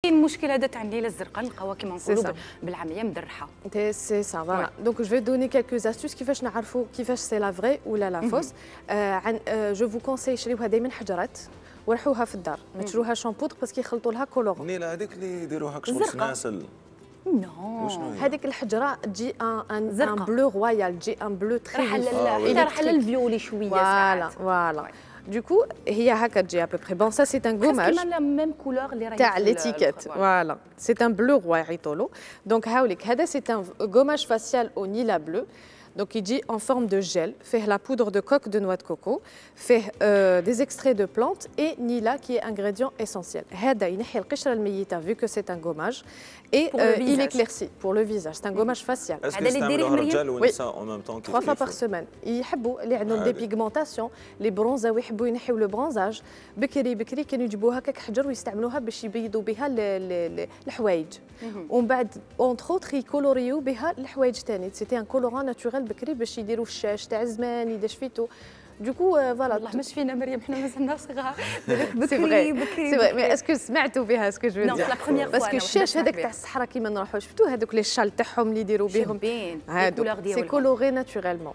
كاين المشكل هذا تاع الليله الزرقاء نلقاوها كيما نقولوا بالعاميه مدرحه. سي سا فوالا. دونك جو في دوني كالكوز استوس كيفاش نعرفوا كيفاش سي لا فري ولا لا فوس. جو فو كونساي شريوها دائما حجرات ورحوها في الدار، ما تشروها شامبودر باسكو يخلطوا لها كولور. نيله هذيك اللي يديروها كشغل سناسل. نو هذيك الحجره تجي ان بلو رويال، تجي ان بلو تري راح للفيولي شويه ساعات. فوالا دوكو هي هكا تجي ابوبري. بون سا سي ان غوماج كيما ميم كولور اللي راهي تاع ليتيكيت. فوالا سي ان بلو روي عيطولو. دونك هاوليك هذا سي ان غوماج فاسيال او نيلا بلو. Donc il dit en forme de gel, fait la poudre de coque de noix de coco, fait des extraits de plantes et nila qui est ingrédient essentiel. هذا ينحي القشره الميته vu que c'est un gommage et il éclaircit pour le visage. C'est un gommage facial. هذا اللي ديريه الرجال والنساء en même temps 3 fois par semaine. يحبوا اللي عندهم دي بيغمونطاسيون لي برونزا ويحبوا ينحيو لو برونزاج بكري بكري كانوا يجيبوها هكاك حجر ويستعملوها باش يبيضوا بها الحوايج ومن بعد اونتر اوتر يكولوريو بها الحوايج ثاني. سيتي ان كولوران ناتوريل بكري باش يديروا الشاش تاع زمان يدير شفيتو. دوكو فوالا والله مش فينا مريم حنا مازلنا صغار. سي فري سي فري مي اسكو سمعتوا بها اسكو جو دير باسكو الشاش هذاك تاع الصحراء كيما نروحوا شفتوا هذوك لي شال تاعهم اللي يديروا بهم هادو سي كولوري ناتوريلمون.